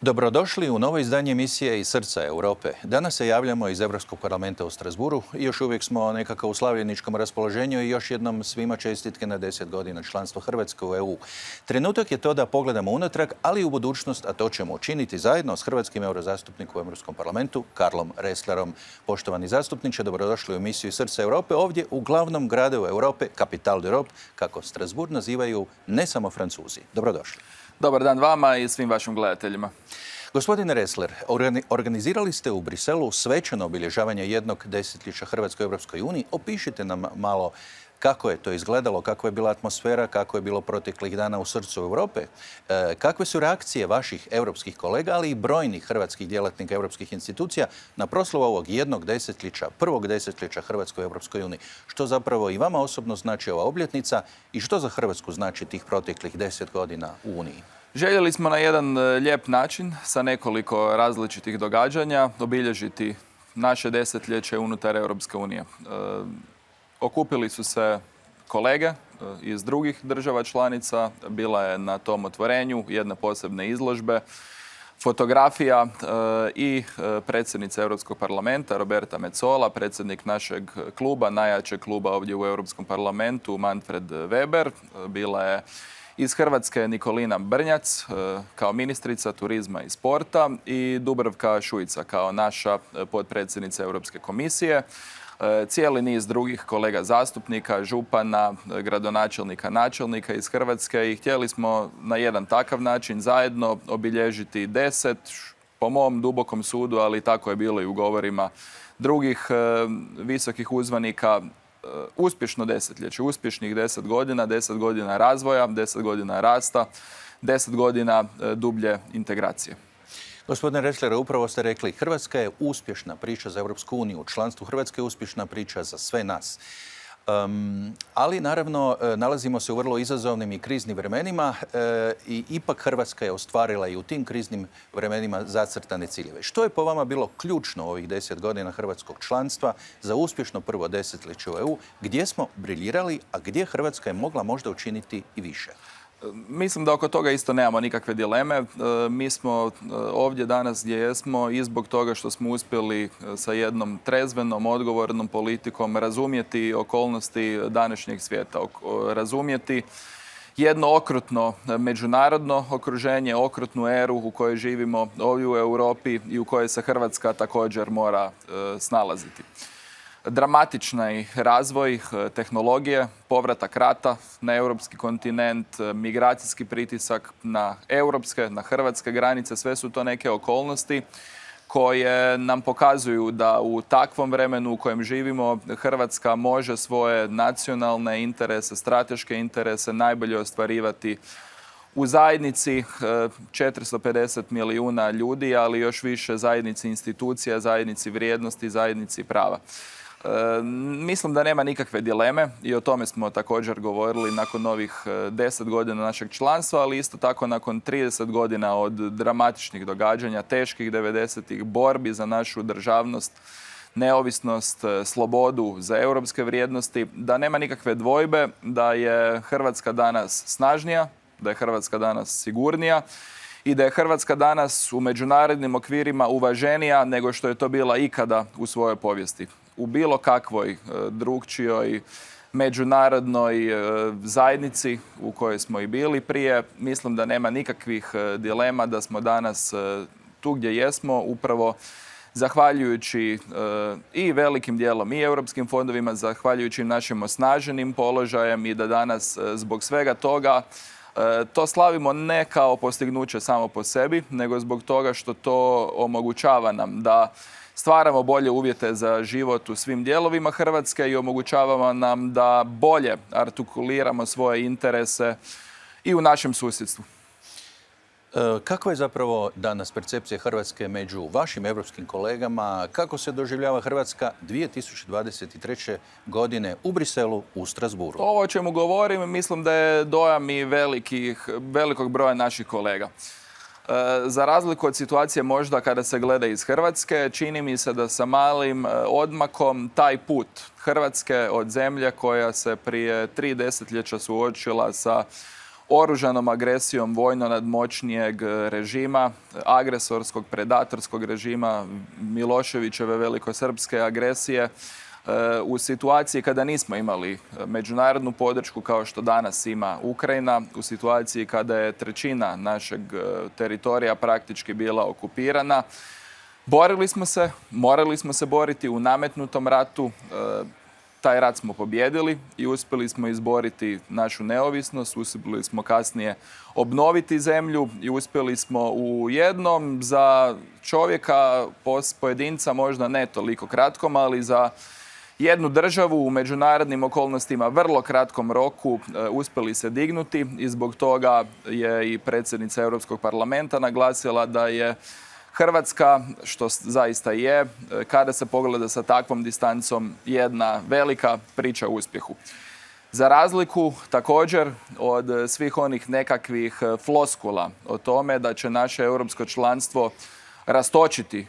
Dobrodošli u novo izdanje emisije Iz srca Europe. Danas se javljamo iz Europskog parlamenta u Strasburu i još uvijek smo nekako u slavljeničkom raspoloženju i još jednom svima čestitke na 10 godina članstva Hrvatske u EU. Trenutak je to da pogledamo unatrag, ali i u budućnost, a to ćemo učiniti zajedno s hrvatskim eurozastupnikom u Europskom parlamentu, Karlom Resslerom. Poštovani zastupniče, dobrodošli u emisiju Iz srca Europe, ovdje u glavnom gradu Europe, Capital d'Europe, kako Strasbourg nazivaju ne samo Francuzi. Dobrodošli. Dobar dan vama i svim vašim gledateljima. Gospodine Ressler, organizirali ste u Briselu svečano obilježavanje jednog desetljeća Hrvatske u Europskoj uniji. Opišite nam malo kako je to izgledalo, kakva je bila atmosfera, kako je bilo proteklih dana u srcu Europe, kakve su reakcije vaših europskih kolega, ali i brojnih hrvatskih djelatnika europskih institucija na proslavu ovog jednog desetljeća, prvog desetljeća Hrvatske u Europskoj uniji. Što zapravo i vama osobno znači ova obljetnica i što za Hrvatsku znači tih proteklih 10 godina u Uniji? Željeli smo na jedan lijep način sa nekoliko različitih događanja obilježiti naše desetljeće unutar Europske unije. Okupili su se kolege iz drugih država članica, bila je na tom otvorenju jedna posebna izložbe, fotografija i predsjednica Europskog parlamenta Roberta Metsola, predsjednik našeg kluba, najjačeg kluba ovdje u Europskom parlamentu, Manfred Weber, bila je iz Hrvatske Nikolina Brnjac kao ministrica turizma i sporta i Dubravka Šuica kao naša potpredsjednica Europske komisije. Cijeli niz drugih kolega zastupnika, župana, gradonačelnika, načelnika iz Hrvatske i htjeli smo na jedan takav način zajedno obilježiti 10, po mom dubokom sudu, ali tako je bilo i u govorima drugih visokih uzvanika, uspješno desetljeće, uspješnih 10 godina, 10 godina razvoja, 10 godina rasta, 10 godina dublje integracije. Gospodine Ressler, upravo ste rekli, Hrvatska je uspješna priča za Europsku uniju. Članstvo Hrvatske je uspješna priča za sve nas. Ali naravno nalazimo se u vrlo izazovnim i kriznim vremenima i ipak Hrvatska je ostvarila i u tim kriznim vremenima zacrtane ciljeve. Što je po vama bilo ključno u ovih 10 godina hrvatskog članstva za uspješno prvo desetljeće u EU? Gdje smo briljirali, a gdje Hrvatska je mogla možda učiniti i više? Mislim da oko toga isto nemamo nikakve dileme. Mi smo ovdje danas gdje jesmo i zbog toga što smo uspjeli sa jednom trezvenom, odgovornom politikom razumjeti okolnosti današnjeg svijeta, razumjeti jedno okrutno međunarodno okruženje, okrutnu eru u kojoj živimo ovdje u Europi i u kojoj se Hrvatska također mora snalaziti. Dramatični razvoj tehnologije, povratak rata na europski kontinent, migracijski pritisak na europske, na hrvatske granice, sve su to neke okolnosti koje nam pokazuju da u takvom vremenu u kojem živimo Hrvatska može svoje nacionalne interese, strateške interese najbolje ostvarivati u zajednici 450 milijuna ljudi, ali još više zajednici institucija, zajednici vrijednosti, zajednici prava. Mislim da nema nikakve dileme i o tome smo također govorili nakon ovih 10 godina našeg članstva, ali isto tako nakon 30 godina od dramatičnih događanja, teških 90-ih, borbi za našu državnost, neovisnost, slobodu, za europske vrijednosti, da nema nikakve dvojbe da je Hrvatska danas snažnija, da je Hrvatska danas sigurnija i da je Hrvatska danas u međunarodnim okvirima uvaženija nego što je to bila ikada u svojoj povijesti. U bilo kakvoj drugčijoj međunarodnoj zajednici u kojoj smo i bili prije, mislim da nema nikakvih dilema da smo danas tu gdje jesmo, upravo zahvaljujući i velikim dijelom i europskim fondovima, zahvaljujući našim osnaženim položajem i da danas zbog svega toga to slavimo ne kao postignuće samo po sebi, nego zbog toga što to omogućava nam da stvaramo bolje uvjete za život u svim dijelovima Hrvatske i omogućavamo nam da bolje artikuliramo svoje interese i u našem susjedstvu. Kakva je zapravo danas percepcija Hrvatske među vašim europskim kolegama? Kako se doživljava Hrvatska 2023. godine u Briselu, u Strasbourgu? Ovo o čemu govorim, mislim da je dojam i velikog broja naših kolega. Za razliku od situacije možda kada se gleda iz Hrvatske, čini mi se da sa malim odmakom taj put Hrvatske od zemlje koja se prije 3 desetljeća suočila sa oružanom agresijom vojno nadmoćnijeg režima, agresorskog, predatorskog režima, Miloševićeve velikosrpske agresije, u situaciji kada nismo imali međunarodnu podršku kao što danas ima Ukrajina, u situaciji kada je trećina našeg teritorija praktički bila okupirana. Borili smo se, morali smo se boriti u nametnutom ratu. Taj rat smo pobjedili i uspjeli smo izboriti našu neovisnost, uspjeli smo kasnije obnoviti zemlju i uspjeli smo u jednom za čovjeka, pojedinca možda ne toliko kratkom, ali za jednu državu u međunarodnim okolnostima vrlo kratkom roku uspjeli se dignuti i zbog toga je i predsjednica Europskog parlamenta naglasila da je Hrvatska, što zaista je, kada se pogleda sa takvom distancom, jedna velika priča o uspjehu. Za razliku također od svih onih nekakvih floskula o tome da će naše europsko članstvo rastočiti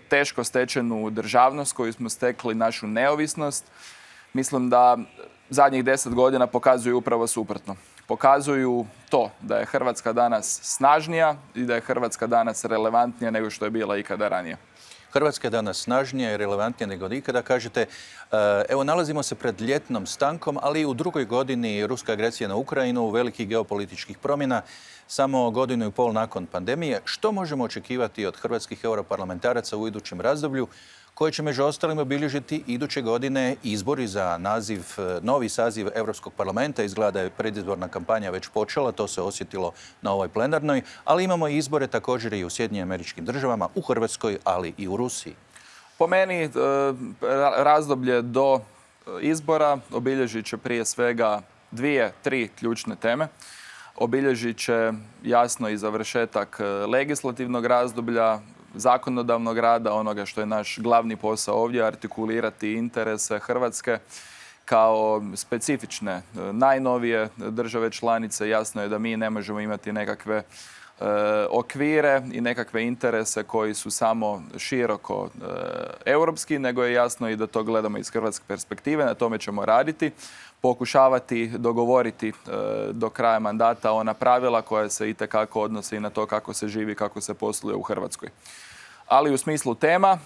teško stečenu državnost koju smo stekli, našu neovisnost, mislim da zadnjih 10 godina pokazuju upravo suprotno. Pokazuju to da je Hrvatska danas snažnija i da je Hrvatska danas relevantnija nego što je bila ikada ranije. Hrvatska je danas snažnija i relevantnija nego ikada. Kažete, evo nalazimo se pred ljetnom stankom, ali u drugoj godini ruska agresija na Ukrajinu, velikih geopolitičkih promjena, samo godinu i pol nakon pandemije. Što možemo očekivati od hrvatskih europarlamentaraca u idućem razdoblju, koje će među ostalim obilježiti iduće godine izbori za novi saziv Europskog parlamenta? Izgleda da je predizborna kampanja već počela, to se osjetilo na ovoj plenarnoj, ali imamo i izbore također i u Sjedinjenim Američkim Državama, u Hrvatskoj, ali i u Rusiji. Po meni razdoblje do izbora obilježit će prije svega 2-3 ključne teme. Obilježit će jasno i završetak legislativnog razdoblja, zakonodavnog rada, onoga što je naš glavni posao ovdje, artikulirati interese Hrvatske kao specifične, najnovije države članice. Jasno je da mi ne možemo imati nekakve okvire i nekakve interese koji su samo široko europski, nego je jasno i da to gledamo iz hrvatske perspektive. Na tome ćemo raditi, pokušavati dogovoriti do kraja mandata ona pravila koja se itekako odnose i na to kako se živi, kako se posluje u Hrvatskoj. Ali u smislu tema,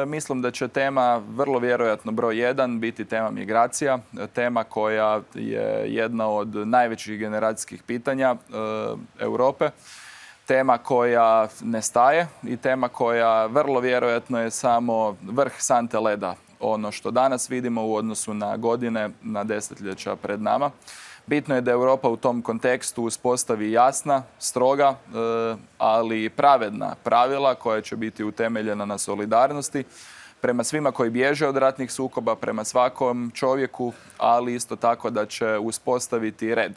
mislim da će tema vrlo vjerojatno broj 1 biti tema migracija, tema koja je jedna od najvećih generacijskih pitanja Europe, tema koja ne staje i tema koja vrlo vjerojatno je samo vrh sante leda, ono što danas vidimo u odnosu na godine, na desetljeća pred nama. Bitno je da Europa u tom kontekstu uspostavi jasna, stroga, ali pravedna pravila koja će biti utemeljena na solidarnosti prema svima koji bježe od ratnih sukoba, prema svakom čovjeku, ali isto tako da će uspostaviti red.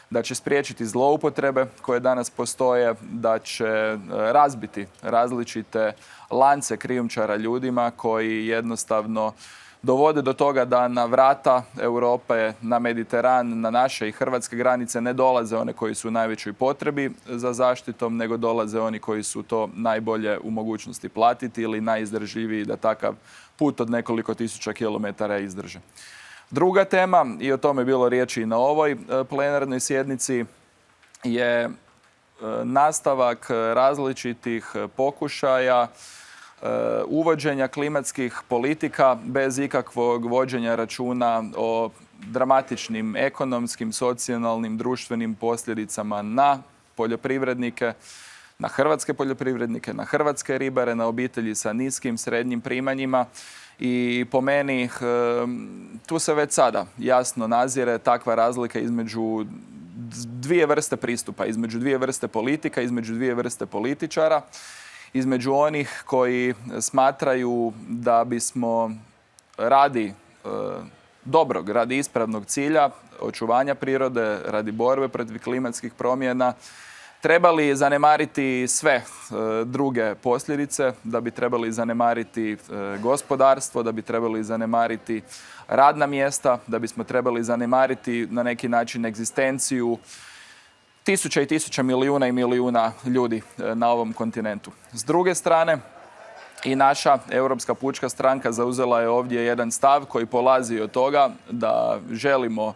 Da će spriječiti zloupotrebe koje danas postoje, da će razbiti različite lance krijumčara ljudima koji jednostavno dovode do toga da na vrata Europe, na Mediteran, na naše i hrvatske granice ne dolaze one koji su u najvećoj potrebi za zaštitom, nego dolaze oni koji su to najbolje u mogućnosti platiti ili najizdržljiviji da takav put od nekoliko tisuća kilometara izdrže. Druga tema, i o tome je bilo riječi i na ovoj plenarnoj sjednici, je nastavak različitih pokušaja uvođenja klimatskih politika bez ikakvog vođenja računa o dramatičnim ekonomskim, socijalnim, društvenim posljedicama na poljoprivrednike, na hrvatske poljoprivrednike, na hrvatske ribare, na obitelji sa niskim, srednjim primanjima. I po meni tu se već sada jasno nazire takva razlika između dvije vrste pristupa, između dvije vrste politika, između dvije vrste političara, između onih koji smatraju da bismo radi dobrog, radi ispravnog cilja, očuvanja prirode, radi borbe protiv klimatskih promjena, trebali zanemariti sve druge posljedice, da bi trebali zanemariti gospodarstvo, da bi trebali zanemariti radna mjesta, da bismo trebali zanemariti na neki način egzistenciju tisuća i tisuća, milijuna i milijuna ljudi na ovom kontinentu. S druge strane, i naša Europska pučka stranka zauzela je ovdje jedan stav koji polazi od toga da želimo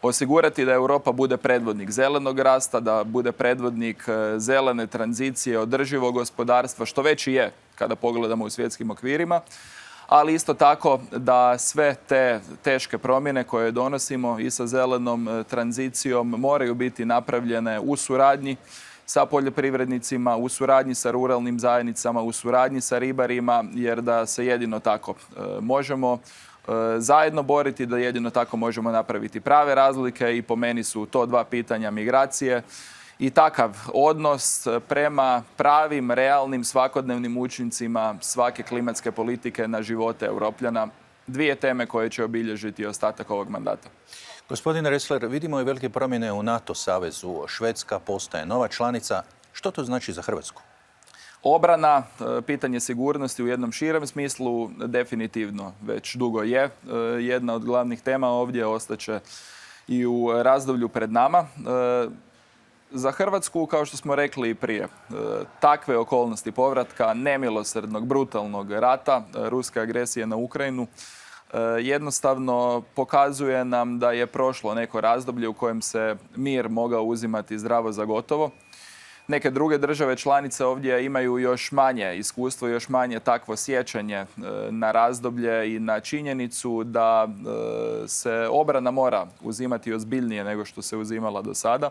osigurati da Europa bude predvodnik zelenog rasta, da bude predvodnik zelene tranzicije, održivog gospodarstva, što već i je kada pogledamo u svjetskim okvirima, ali isto tako da sve te teške promjene koje donosimo i sa zelenom tranzicijom moraju biti napravljene u suradnji sa poljoprivrednicima, u suradnji sa ruralnim zajednicama, u suradnji sa ribarima, jer da se jedino tako možemo zajedno boriti, da jedino tako možemo napraviti prave razlike i po meni su to dva pitanja migracije i takav odnos prema pravim, realnim, svakodnevnim učincima svake klimatske politike na živote Europljana. Dvije teme koje će obilježiti ostatak ovog mandata. Gospodine Ressler, vidimo i velike promjene u NATO savezu. Švedska postaje nova članica. Što to znači za Hrvatsku? Obrana, pitanje sigurnosti u jednom širem smislu definitivno već dugo je jedna od glavnih tema ovdje, ostaće i u razdoblju pred nama. Za Hrvatsku, kao što smo rekli i prije, takve okolnosti povratka nemilosrdnog, brutalnog rata, ruske agresije na Ukrajinu, jednostavno pokazuje nam da je prošlo neko razdoblje u kojem se mir mogao uzimati zdravo za gotovo. Neke druge države članice ovdje imaju još manje iskustvo, još manje takvo sjećanje na razdoblje i na činjenicu da se obrana mora uzimati ozbiljnije nego što se uzimala do sada,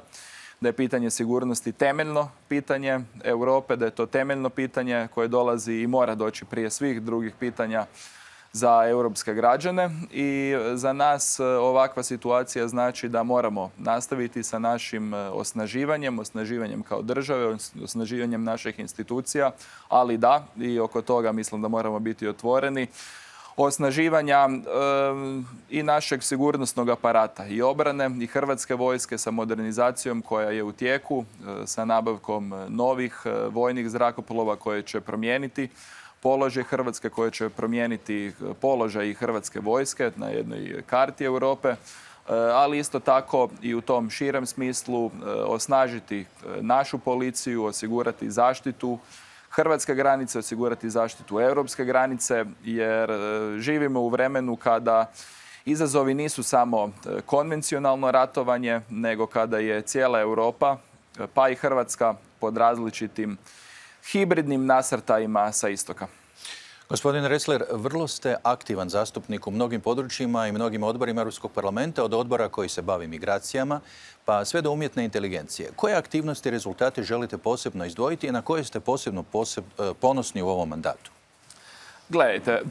da je pitanje sigurnosti temeljno pitanje Europe, da je to temeljno pitanje koje dolazi i mora doći prije svih drugih pitanja za europske građane i za nas ovakva situacija znači da moramo nastaviti sa našim osnaživanjem kao države, osnaživanjem naših institucija, ali da, i oko toga mislim da moramo biti otvoreni, osnaživanja i našeg sigurnosnog aparata i obrane i Hrvatske vojske sa modernizacijom koja je u tijeku, sa nabavkom novih vojnih zrakoplova koje će promijeniti položaj Hrvatske, koje će promijeniti položaj i Hrvatske vojske na jednoj karti Europe, ali isto tako i u tom širem smislu osnažiti našu policiju, osigurati zaštitu hrvatske granice, osigurati zaštitu europske granice, jer živimo u vremenu kada izazovi nisu samo konvencionalno ratovanje, nego kada je cijela Europa, pa i Hrvatska, pod različitim hibridnim nasrtajima sa istoka. Gospodin Ressler, vrlo ste aktivan zastupnik u mnogim područjima i mnogim odborima Europskog parlamenta, od odbora koji se bavi migracijama, pa sve do umjetne inteligencije. Koje aktivnosti i rezultate želite posebno izdvojiti i na koje ste posebno ponosni u ovom mandatu? Gledajte,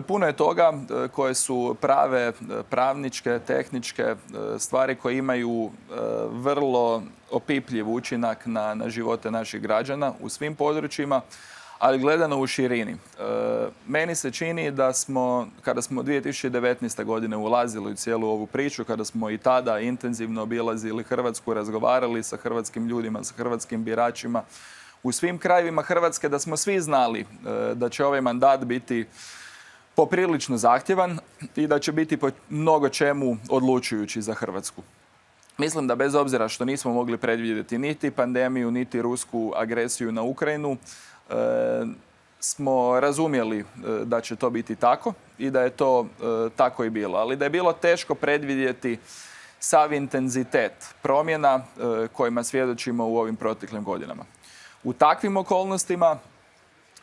puno je toga koje su prave, pravničke, tehničke stvari koje imaju vrlo opipljiv učinak na živote naših građana u svim područjima, ali gledano u širini. Meni se čini da smo, kada smo 2019. godine ulazili u cijelu ovu priču, kada smo i tada intenzivno obilazili Hrvatsku, razgovarali sa hrvatskim ljudima, sa hrvatskim biračima, u svim krajevima Hrvatske, da smo svi znali da će ovaj mandat biti poprilično zahtjevan i da će biti po mnogo čemu odlučujući za Hrvatsku. Mislim da bez obzira što nismo mogli predvidjeti niti pandemiju, niti rusku agresiju na Ukrajinu, smo razumjeli da će to biti tako i da je to tako i bilo. Ali da je bilo teško predvidjeti sav intenzitet promjena kojima svjedočimo u ovim proteklim godinama. U takvim okolnostima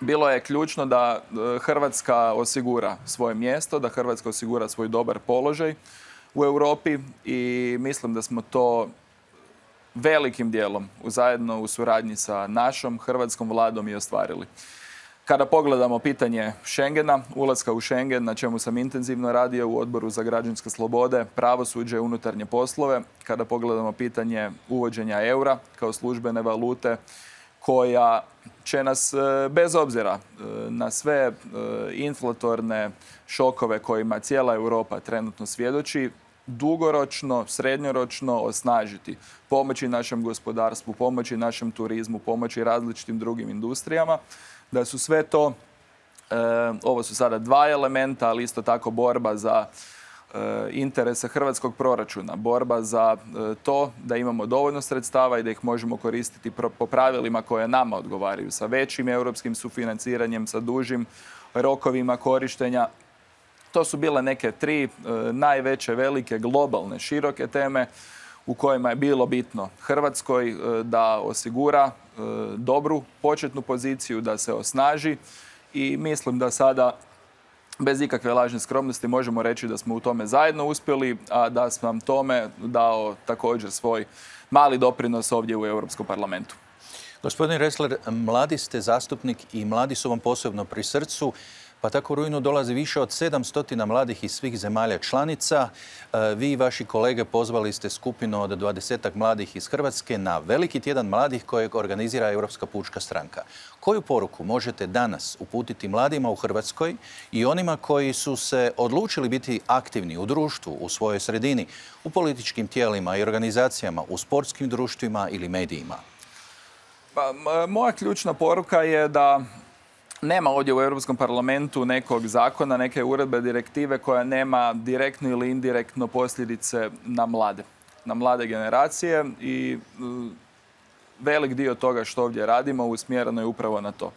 bilo je ključno da Hrvatska osigura svoje mjesto, da Hrvatska osigura svoj dobar položaj u Europi i mislim da smo to velikim dijelom zajedno u suradnji sa našom hrvatskom vladom i ostvarili. Kada pogledamo pitanje Schengena, ulaska u Schengen, na čemu sam intenzivno radio u Odboru za građanske slobode, pravosuđe, unutarnje poslove, kada pogledamo pitanje uvođenja eura kao službene valute, koja će nas, bez obzira na sve inflatorne šokove kojima cijela Europa trenutno svjedoči, dugoročno, srednjoročno osnažiti, pomoći našem gospodarstvu, pomoći našem turizmu, pomoći različitim drugim industrijama, da su sve to, ovo su sada dva elementa, ali isto tako borba za interese hrvatskog proračuna, borba za to da imamo dovoljno sredstava i da ih možemo koristiti po pravilima koje nama odgovaraju, sa većim europskim sufinanciranjem, sa dužim rokovima korištenja. To su bile neke tri najveće, velike, globalne, široke teme u kojima je bilo bitno Hrvatskoj da osigura dobru početnu poziciju, da se osnaži i mislim da sada bez ikakve lažne skromnosti možemo reći da smo u tome zajedno uspjeli, a da sam tome dao također svoj mali doprinos ovdje u Europskom parlamentu. Gospodin Ressler, mladi ste zastupnik i mladi su vam posebno pri srcu, pa tako u rujnu dolazi više od 700 mladih iz svih zemalja članica. Vi i vaši kolege pozvali ste skupinu od 20 mladih iz Hrvatske na veliki tjedan mladih kojeg organizira Europska pučka stranka. Koju poruku možete danas uputiti mladima u Hrvatskoj i onima koji su se odlučili biti aktivni u društvu, u svojoj sredini, u političkim tijelima i organizacijama, u sportskim društvima ili medijima? Pa, moja ključna poruka je da nema ovdje u Europskom parlamentu nekog zakona, neke uredbe, direktive koja nema direktno ili indirektno posljedice na mlade generacije i velik dio toga što ovdje radimo usmjereno je upravo na to.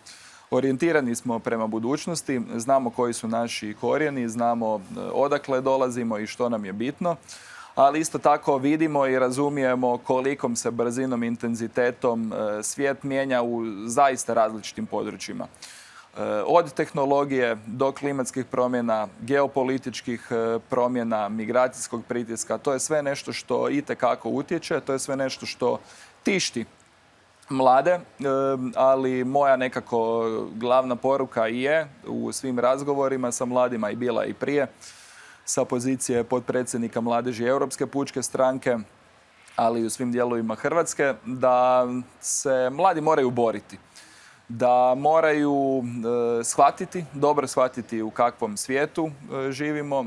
Orijentirani smo prema budućnosti, znamo koji su naši korijeni, znamo odakle dolazimo i što nam je bitno, ali isto tako vidimo i razumijemo kolikom se brzinom, intenzitetom svijet mijenja u zaista različitim područjima. Od tehnologije do klimatskih promjena, geopolitičkih promjena, migracijskog pritiska, to je sve nešto što itekako utječe, to je sve nešto što tišti mlade, ali moja nekako glavna poruka je u svim razgovorima sa mladima i bila i prije sa pozicije potpredsjednika Mladeži Europske pučke stranke, ali i u svim dijelovima Hrvatske, da se mladi moraju boriti. Da moraju dobro shvatiti u kakvom svijetu živimo,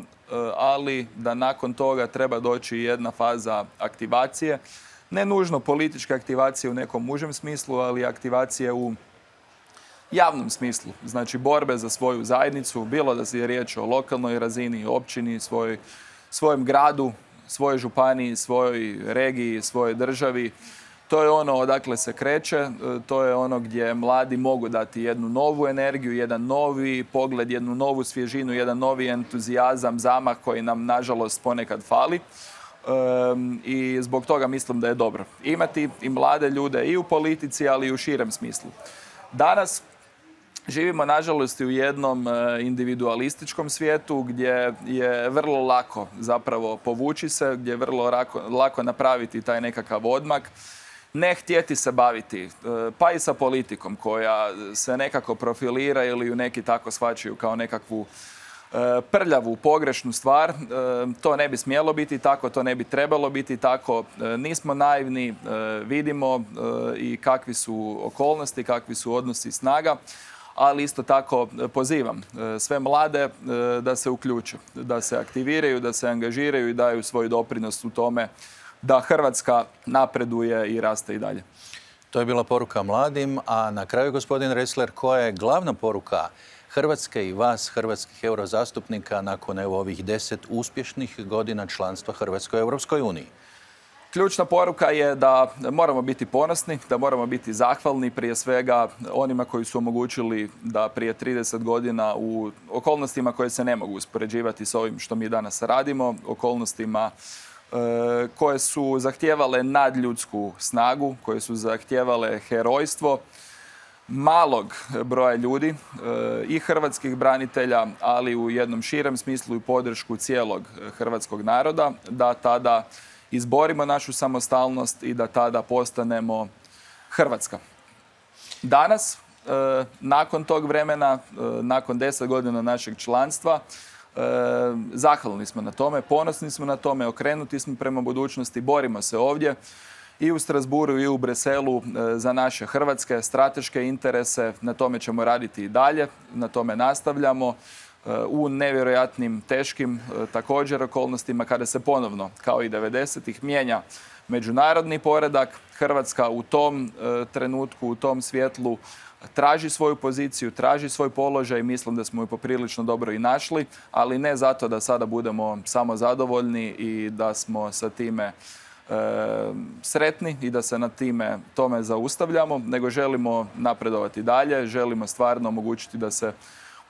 ali da nakon toga treba doći jedna faza aktivacije. Ne nužno političke aktivacije u nekom užem smislu, ali aktivacije u javnom smislu. Znači borbe za svoju zajednicu, bilo da je riječ o lokalnoj razini, općini, svojem gradu, svojoj županiji, svojoj regiji, svojoj državi. To je ono odakle se kreće, to je ono gdje mladi mogu dati jednu novu energiju, jedan novi pogled, jednu novu svježinu, jedan novi entuzijazam, zamah koji nam nažalost ponekad fali. I zbog toga mislim da je dobro imati i mlade ljude i u politici, ali i u širem smislu. Danas živimo nažalost u jednom individualističkom svijetu gdje je vrlo lako zapravo povući se, gdje je vrlo lako napraviti taj nekakav odmak. Ne htjeti se baviti, pa i sa politikom koja se nekako profilira ili ju neki tako shvaćaju kao nekakvu prljavu, pogrešnu stvar. To ne bi smjelo biti tako, to ne bi trebalo biti tako. Nismo naivni, vidimo i kakvi su okolnosti, kakvi su odnosi snaga, ali isto tako pozivam sve mlade da se uključe, da se aktiviraju, da se angažiraju i daju svoj doprinos u tome da Hrvatska napreduje i raste i dalje. To je bila poruka mladim, a na kraju, gospodin Ressler, koja je glavna poruka Hrvatske i vas, hrvatskih eurozastupnika, nakon ovih 10 uspješnih godina članstva Hrvatske u Europskoj uniji? Ključna poruka je da moramo biti ponosni, da moramo biti zahvalni prije svega onima koji su omogućili da prije 30 godina u okolnostima koje se ne mogu uspoređivati s ovim što mi danas radimo, okolnostima koje su zahtijevale nadljudsku snagu, koje su zahtijevale herojstvo malog broja ljudi i hrvatskih branitelja, ali u jednom širem smislu i podršku cijelog hrvatskog naroda, da tada izborimo našu samostalnost i da tada postanemo Hrvatska. Danas, nakon tog vremena, nakon 10 godina našeg članstva, zahvalni smo na tome, ponosni smo na tome, okrenuti smo prema budućnosti, borimo se ovdje i u Strasbourgu i u Briselu za naše hrvatske strateške interese. Na tome ćemo raditi i dalje, na tome nastavljamo u nevjerojatnim, teškim također okolnostima kada se ponovno, kao i 90-ih, mijenja međunarodni poredak. Hrvatska u tom trenutku, u tom svjetlu traži svoju poziciju, traži svoj položaj. Mislim da smo ju poprilično dobro i našli, ali ne zato da sada budemo samo zadovoljni i da smo sa time sretni i da se na tome zaustavljamo, nego želimo napredovati dalje, želimo stvarno omogućiti da se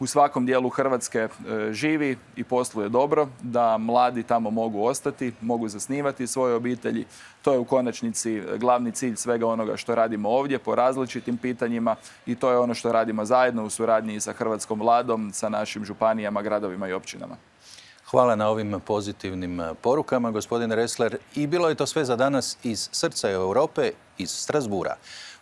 u svakom dijelu Hrvatske živi i posluje dobro, da mladi tamo mogu ostati, mogu zasnivati svoje obitelji. To je u konačnici glavni cilj svega onoga što radimo ovdje po različitim pitanjima i to je ono što radimo zajedno u suradnji sa hrvatskom vladom, sa našim županijama, gradovima i općinama. Hvala na ovim pozitivnim porukama, gospodine Ressler. I bilo je to sve za danas iz srca Europe, iz Strasbura.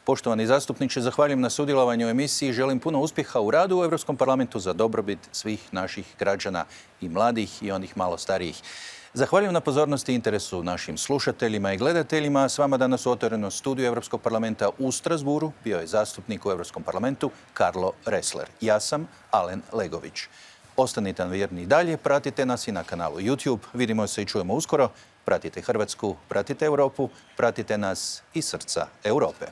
Poštovani zastupniče, zahvaljujem na sudjelovanju u emisiji i želim puno uspjeha u radu u Europskom parlamentu za dobrobit svih naših građana i mladih i onih malo starijih. Zahvaljujem na pozornosti i interesu našim slušateljima i gledateljima. S vama danas u otvorenom studiju Europskog parlamenta u Strasburu bio je zastupnik u Europskom parlamentu Karlo Ressler. Ja sam Alen Legović. Ostanite nam vjerni i dalje, pratite nas i na kanalu YouTube. Vidimo se i čujemo uskoro. Pratite Hrvatsku, pratite Europu, pratite nas iz srca Europe.